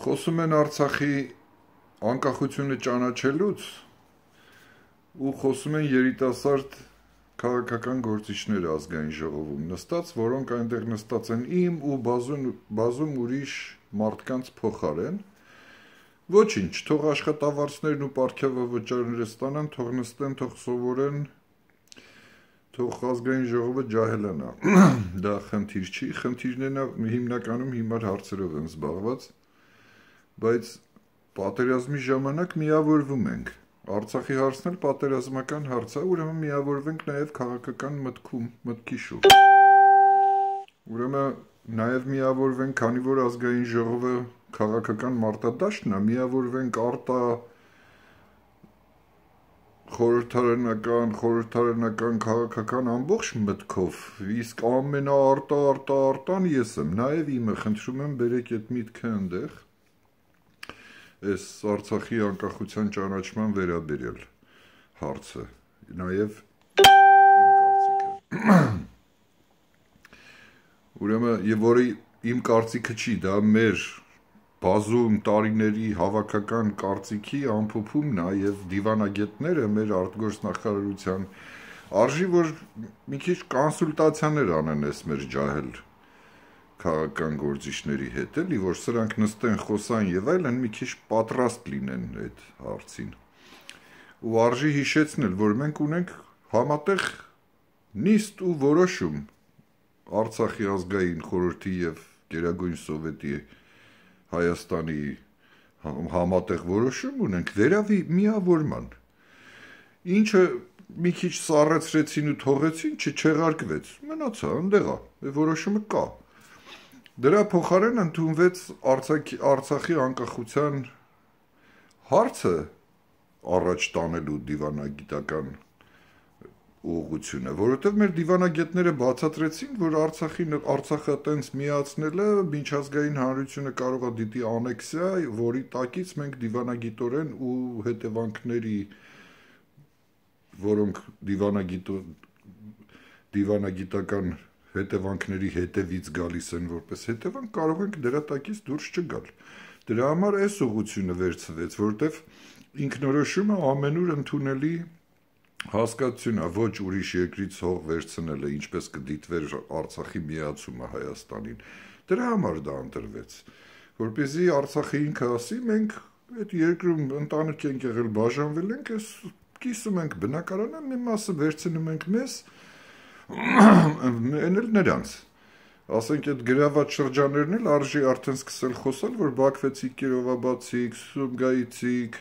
Խոսում են Արցախի անկախությունը ճանաչելուց ու խոսում են երիտասարդ քաղաքական գործիչները ազգային ժողովում նստած, որոնք այնտեղ նստած են իմ ու բազում ուրիշ մարդկանց փոխարեն։ Ոչինչ, թող աշխատավարձներն ու պարգևավճարները ստանան, թող նստեն, թող սովորեն, թող ազգային ժողովը ջահելանա։ Դա խնդիր չի, խնդիրներն հիմնականում հիմար հարցերով են զբաղված, բայց պատերազմի ժամանակ միավորվում ենք։ Արցախի հարցն էլ պատերազմական հարց է, ուրեմն միավորվենք նաև քաղաքական մտքի շուրջ։ Ուրեմն նաև միավորվենք, քանի որ ազգային ժողովը քաղաքական մարտադաշտն է, միավորվենք խորհրդարանական քաղաքական ամբողջ մտքով, իսկ ամենաարտան ես եմ, նաև իմը, խնդրում եմ բերեք այդ միտքը ընդեղ, այս Արցախի անկախության ճանաչման վերաբերյալ հարցը, նաև իմ կարծիքը։ Ուրեմն, եւ որը իմ կարծիքը չի, դա մեր բազում տարիների հավաքական կարծիքի ամփոփումն է եւ դիվանագետները մեր արտգործնախարարության արժի որ մի քիչ կոնսուլտացիաներ անեն այս մեր ջահել քաղաքական գործիչների հետ, էլի որ սրանք նստեն, խոսան եւ այլն, մի քիչ պատրաստ լինեն այդ հարցին։ Ու արժի հիշեցնել, որ մենք ունենք համատեղ նիստ ու որոշում Արցախի ազգային խորհրդի եւ Գերագույն սովետի Հայաստանի համատեղ որոշում ունենք վերավի միավորման, ինչը մի քիչ սառեցրեցին ու թողեցին, չեղարկվեց, մնացա, ընդեղ է, որոշումը կա։ Դրա փոխարեն ընդունվեց Արցախի անկախության հարցը առաջ տանելու դիվանագիտական ուղղությունը, որովհետև մեր դիվանագետները բացատրեցին, որ Արցախը տենց միացնելը միջազգային հանրությունը կարող է դիտի անեքսիա, որի տակից մենք դիվանագիտորեն ու հետևանքների, որոնք դիվանագիտական հետևանքների հետևից գալիս են որպես հետևանք, կարող ենք դրա տակից դուրս չգալ։ Դրա համար այս ուղղությունը վերցվեց, որովհետև ինքնորոշումը ամենուր ընդունելի հասկացություն է, ոչ ուրիշ երկրից հող վերցնելը, ինչպես կդիտվեր Արցախի միացումը Հայաստանին։ Դրա համար դա ընտրվեց, որպեսզի Արցախը ինքը ասի, մենք այդ երկրում ընտանիք ենք եղել, բաժանվել ենք, այս կիսում ենք բնակարանը, մի մասը վերցնում ենք մեզ, էնել նրանց։ Ասենք այդ գրաված շրջաններն էլ արժի արդեն սկսել խոսալ, որ Բաքվեցիք, Կիրովաբադցիք, Սումգայիցիք,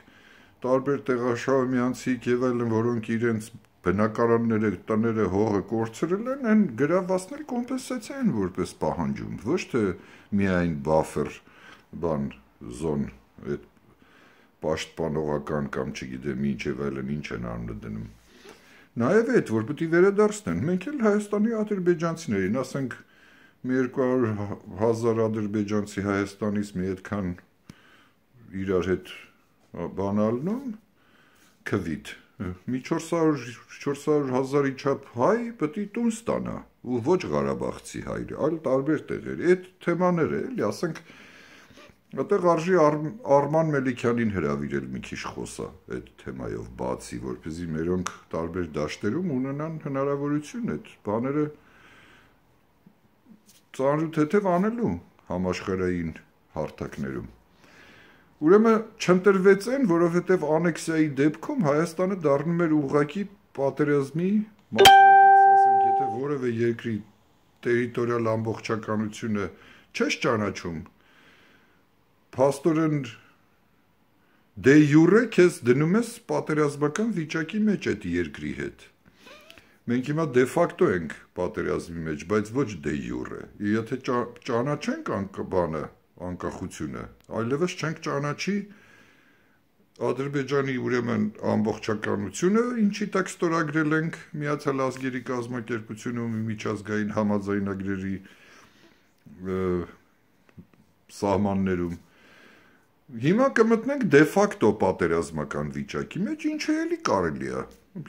տարբեր տեղաշահումյանցիք եւ այլն, որոնք իրենց բնակարանները, տները, հողը կորցրել են, այն գրավվածն էլ կոմպենսացիա են որպես պահանջում, ոչ թե միայն բաֆեր զոն, այդ պաշտպանողական կամ չգիտեմ ինչ եւ այլն ինչ են անունը դնում։ Նաև այդ, որ պետք է վերադարձնեն, մենք էլ Հայաստանի ադրբեջանցիներին, ասենք մի 200,000 ադրբեջանցի Հայաստանից մի այդքան իրար հետ բանալնում, քվիթ, մի 400,000-ի չափ հայ պետք է տուն ստանա, ու ոչ Ղարաբաղցի հայր, այլ տարբեր տեղեր, այդ թեմաները էլի, ասենք, այդտեղ արժի Արման Մելիքյանին հրավիրել մի քիչ խոսա այդ թեմայով բացի, որպեսզի մերոնք տարբեր դաշտերում ունենան հնարավորություն այդ բաները ծանրութեթև անելու համաշխարհային հարթակներում։ Ուրեմն չընտրվեց են, որովհետև անեքսիայի դեպքում Հայաստանը դառնում էր ուղղակի պատերազմի մասնակից, ասենք, եթե որևէ երկրի տերիտորիալ ամբողջականությունը չես ճանաչում, փաստորեն դե յուրե քեզ դնում ես պատերազմական վիճակի մեջ այդ երկրի հետ։ Մենք հիմա դե ֆակտո ենք պատերազմի մեջ, բայց ոչ դե յուրե։ Եթե ճանաչենք անկախությունը, այլևս չենք ճանաչի Ադրբեջանի ուրեմն ամբողջականությունը, ինչի տակ ստորագրել ենք Միացյալ Ազգերի կազմակերպությունում միջազգային համաձայնագրերի սահմաններում։ Հիմա կմտնենք դե ֆակտո պատերազմական վիճակի մեջ, ինչը էլի կարելի է։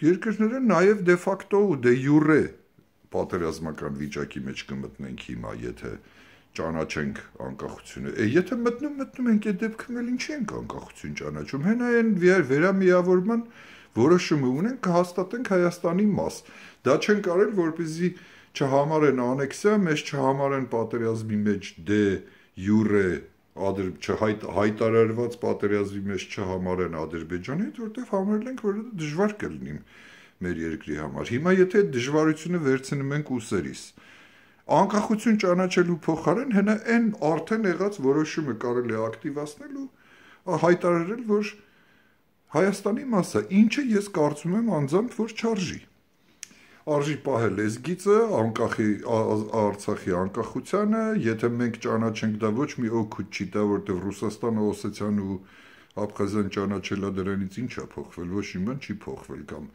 Երկրները նաև դե ֆակտո ու դե յուրե պատերազմական վիճակի մեջ կմտնենք հիմա, եթե ճանաչենք անկախությունը։ Եթե մտնում ենք այդ դեպքում էլ ինչի ենք անկախություն ճանաչում։ Հենա այն վերամիավորման որոշումը ունենք, կհաստատենք Հայաստանի մաս։ Դա չեն կարել, որպեսզի չհամարեն անեքսիա, մեզ չհամարեն պատերազմի մեջ դե յուրե հայտարարված պատերազմի մեջ չհամարեն Ադրբեջանի հետ, որտեղ համարել ենք, որ դա դժվար կլինի մեր երկրի համար։ Հիմա եթե այդ դժվարությունը վերցնում ենք ուսերիս, անկախություն ճանաչելու փոխարեն հենա այն արդեն եղած որոշումը կարելի է ակտիվացնել ու հայտարարել, որ Հայաստանի մասը, ինչը ես կարծում եմ անձամբ, որ չարժի։ Արժի պահել լեզգիծը, Արցախի անկախությանը, եթե մենք ճանաչենք, դա ոչ մի օգուտ չի տա, որտեղ Ռուսաստանը, Օսեթիան ու Աբխազիան ճանաչելա դրանից ինչ է փոխվել, ոչ մի բան չի փոխվել կամ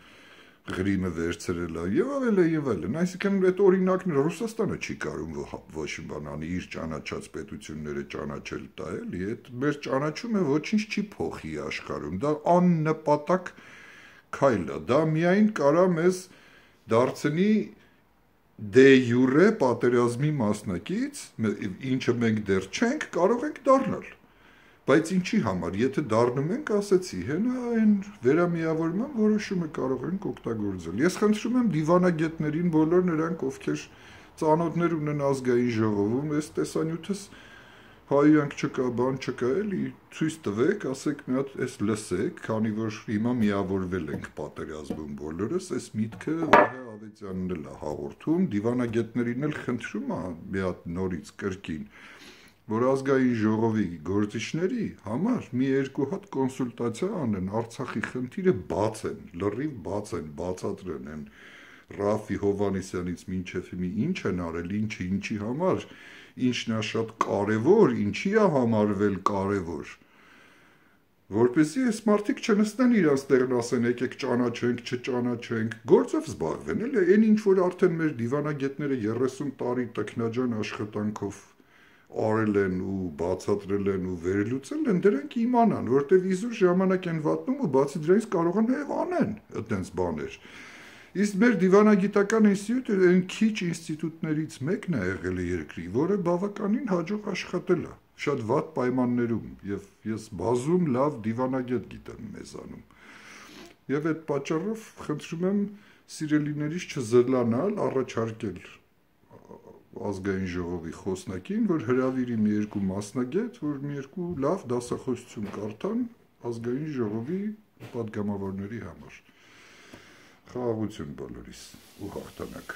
Ղրիմը վերցրել է եւ այլն, այսինքն այդ օրինակները Ռուսաստանը չի կարող ոչ մի բան անի, իր ճանաչած պետությունները ճանաչել տա, էլի, այդ մեր ճանաչումը ոչինչ չի փոխի աշխարհում, դա աննպատակ քայլ է, դա միայն կարա մեզ դարձնի դե յուրե պատերազմի մասնակից, ինչը մենք դեռ չենք, կարող ենք դառնալ։ Բայց ինչի համար, եթե դառնում ենք, ասեցի, հենա այն վերամիավորման որոշումը կարող ենք օգտագործել։ Ես խնդրում եմ դիվանագետներին, բոլոր նրանք, ովքեր ծանոթներ ունեն ազգային ժողովում, այս տեսանյութս հայյանք չկա, բան չկա, էլի ցույց տվեք, ասեք մի հատ էս լսեք, քանի որ հիմա միավորվել ենք պատերազմում բոլորս, այս միտքը Վահե Ավետյանն էլ է հաղորդում, դիվանագետներին էլ խնդրում եմ մի հատ նորից կրկին, որ ազգային ժողովի գործիչների համար մի երկու հատ կոնսուլտացիա անեն, Արցախի խնդիրը բացեն, լրիվ բացեն, բացատրեն են Ռաֆի Հովհաննիսյանից մինչև հիմի ինչ են արել, ինչի համար, ինչն է շատ կարևոր, ինչի է համարվել կարևոր, որպեսզի այս մարդիկ չնստեն իրանց տեղն ասեն, եկեք ճանաչենք, չճանաչենք, գործով զբաղվեն, էլի, այն ինչ որ արդեն մեր դիվանագետները 30 տարի տքնաջան աշխատանքով արել են ու բացատրել են ու վերելուծել են, դրանք իմանան, որտեղ իզուր ժամանակ են վատնում ու բացի դրանից կարող են նաև անեն այդպես բաներ։ Իսկ մեր դիվանագիտական ինստիտուտը այն քիչ ինստիտուտներից մեկն է եղել է երկրի, որը բավականին հաջող աշխատել է, շատ վատ պայմաններում, եւ ես բազում լավ դիվանագետ գիտեմ մեզանում։ Եվ այդ պատճառով խնդրում եմ սիրելիներիս չզլանալ, առաջարկել ազգային ժողովի խոսնակին, որ հրավիրի մի երկու մասնագետ, որ մի երկու լավ դասախոսություն կարդան ազգային ժողովի պատգամավորների համար։ Խաղաղություն բոլորիս ու հաղթանակ։